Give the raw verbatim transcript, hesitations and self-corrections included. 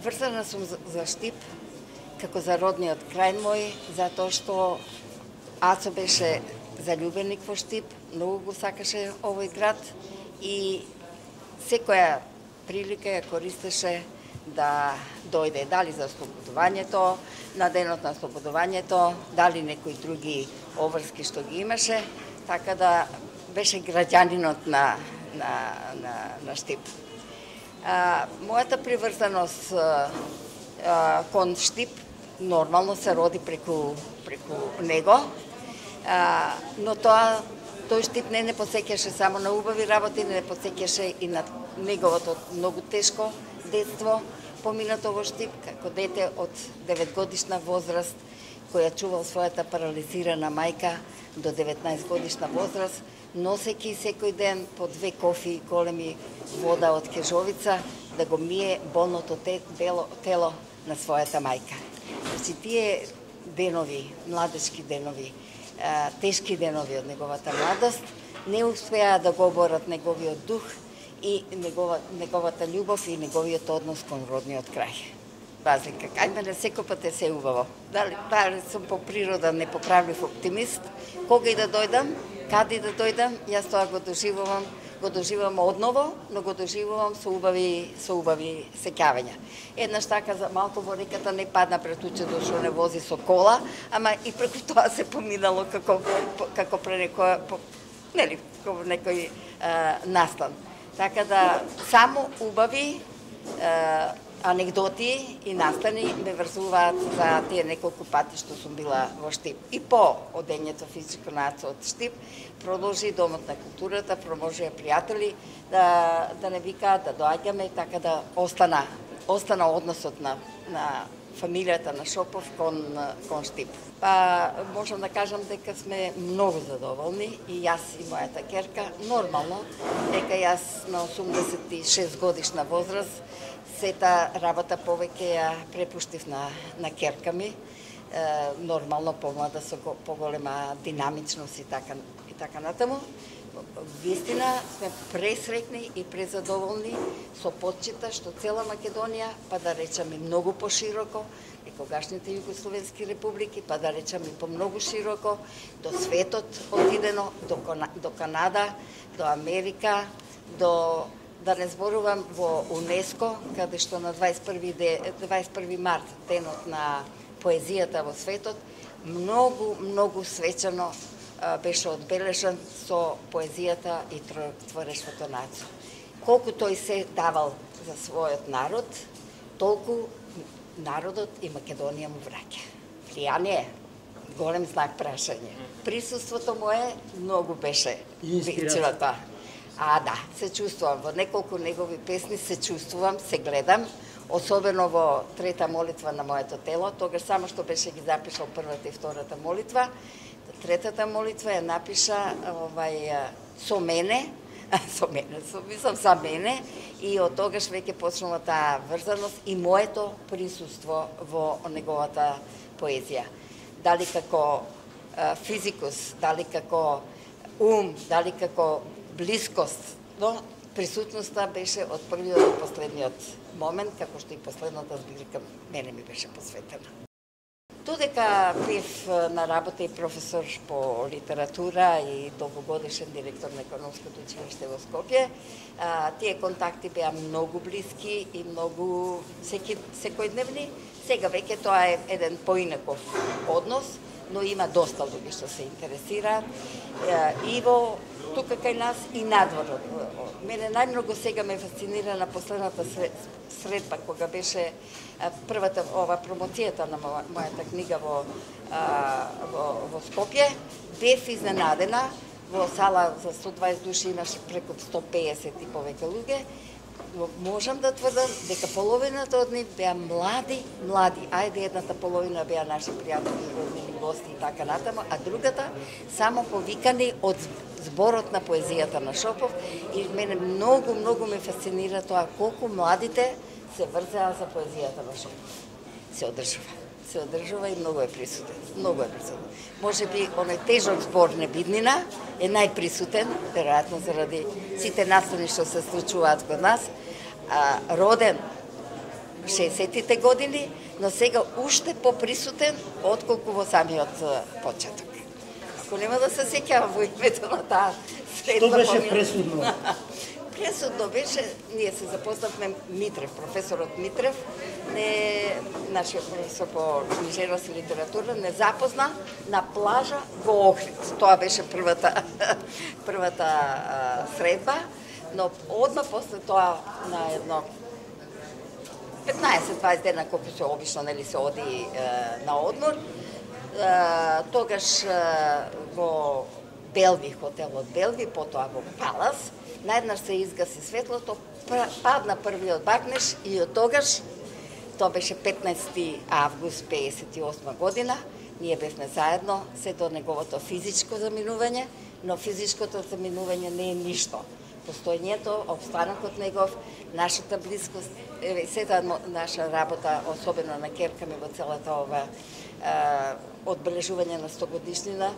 Врзана сум за Штип, како за родниот крај мој, затоа што Ацо беше заљубеник во Штип, многу го сакаше овој град и секоја прилика ја користеше да дојде, дали за ослободувањето, на денот на ослободувањето, дали некои други обврски што ги имаше, така да беше граѓанинот на, на, на, на Штип. А, мојата приврзаност а, а, кон Штип нормално се роди преку, преку него, а, но тоа тој Штип не не посеќаше само на убави работи, не посеќаше и на неговото многу тешко детство, поминато во Штип, како дете од деветгодишна возраст, која чувал својата парализирана мајка до деветнаесет годишна возраст, носејќи секој ден по две кофи големи вода од кежовица да го мие болното тело, тело на својата мајка. Значи, тие денови, младечки денови, тешки денови од неговата младост, не успеа да го оборат неговиот дух и негова, неговата љубов и неговиот однос кон родниот крај. Разлика, кај мене секој пат е се убаво. Дали, дали сум по природа непоправлив оптимист, кога и да дојдам, каде и да дојдам, јас тоа го доживувам, го доживувам одново, но го доживувам со убави, со убави сеќавања. Еднаш така за малку во реката не падна пред учето што не вози со кола, ама и преку тоа се поминало како како пре некоја, нели, како некој а, настан. Така да само убави а, анегдоти и настани ме врзуваат за тие неколку пати што сум била во Штип. И по одењето физичко на Ацо од Штип продолжи Домот на културата, продолжија пријатели да да не викаат да доаѓаме, така да остана остана односот на на фамилијата на Шопов кон кон Штип. Па можам да кажам дека сме многу задоволни и јас и мојата ќерка. Нормално дека јас на осумдесет и шест годишна возраст сета работа повеќе ја препуштив на, на ќерка ми, е, нормално помлада со го, поголема динамичност и така, и така натаму. Вистина сме пресрекни и презадоволни со почита што цела Македонија, па да речеме многу пошироко, и тогашните југословенски републики, па да речеме по многу широко, до светот отидено, до, до Канада, до Америка, до да не зборувам во УНЕСКО, каде што на дваесет и први март, денот на поезијата во светот, многу, многу свечено беше одбележан со поезијата и творештвото на Ацо. Колку тој се давал за својот народ, толку народот и Македонија му враќа. Влијание, голем знак прашање. Присуството мое многу беше тоа. А, да, се чувствувам. Во неколку негови песни се чувствувам, се гледам, особено во трета молитва на моето тело. Тогаш само што беше ги запишал првата и втората молитва. Третата молитва ја напиша овај, со мене, со мене, со, мислам за мене, и од тогаш веќе почнала таа врзаност и моето присуство во неговата поезија. Дали како а, физикус, дали како ум, дали како блискост, но присутноста беше од првиот до последниот момент, како што и последната збирка мене ми беше посветена. Додека бев на работа и професор по литература и долгогодишен директор на Економското училиште во Скопје, тие контакти беа многу блиски и многу секи, секојдневни. Сега веќе тоа е еден поинаков однос, но има доста луѓе што се интересираат и во тука кај нас и надвор. Мене најмногу сега ме фасцинира на последната средба кога беше првата ова промоцијата на мојата книга во во, во Скопје. Бев изненадена, во сала за сто дваесет души имаше преку сто пеесет и повеќе луѓе. Можам да тврдам дека половината од нив беа млади, млади. Ајде, едната половина беа наши пријатели, роднини, гости и така натаму, а другата само повикани од зборот на поезијата на Шопов. И мене многу, многу ме фасцинира тоа колку младите се врзеа за поезијата на Шопов. Се одржува. Се одржува и многу е присутен. Многу е присутен. Може би оној тежок збор Небиднина е најприсутен, веројатно заради сите настани што се случуваат код нас. А, роден шеесеттите години, но сега уште поприсутен отколку во самиот почеток. Ако нема да се сеќавам во името на таа средба... Што беше пресудно? Пресудно беше, ние се запознавме Митрев, професорот Митрев, не, нашиот професор по книжевност и литература, не запозна на плажа во Охрид. Тоа беше првата, првата а, средба, но одма после тоа на едно петнаесет-дваесет дена, колку се обично нели се оди е, на одмор, е, тогаш е, во Белви, хотелот Белви, потоа во Палас, наеднаш се изгаси светлото, падна првиот багнеш и од тогаш, тоа беше петнаесети август пеесет и осма година, ние бевме заедно, се до неговото физичко заминување, но физичкото заминување не е ништо. Постојањето, обстанокот негов, нашата близкост, еве сета наша работа, особено на керка ми во целата ова одбележување на сто годишнина,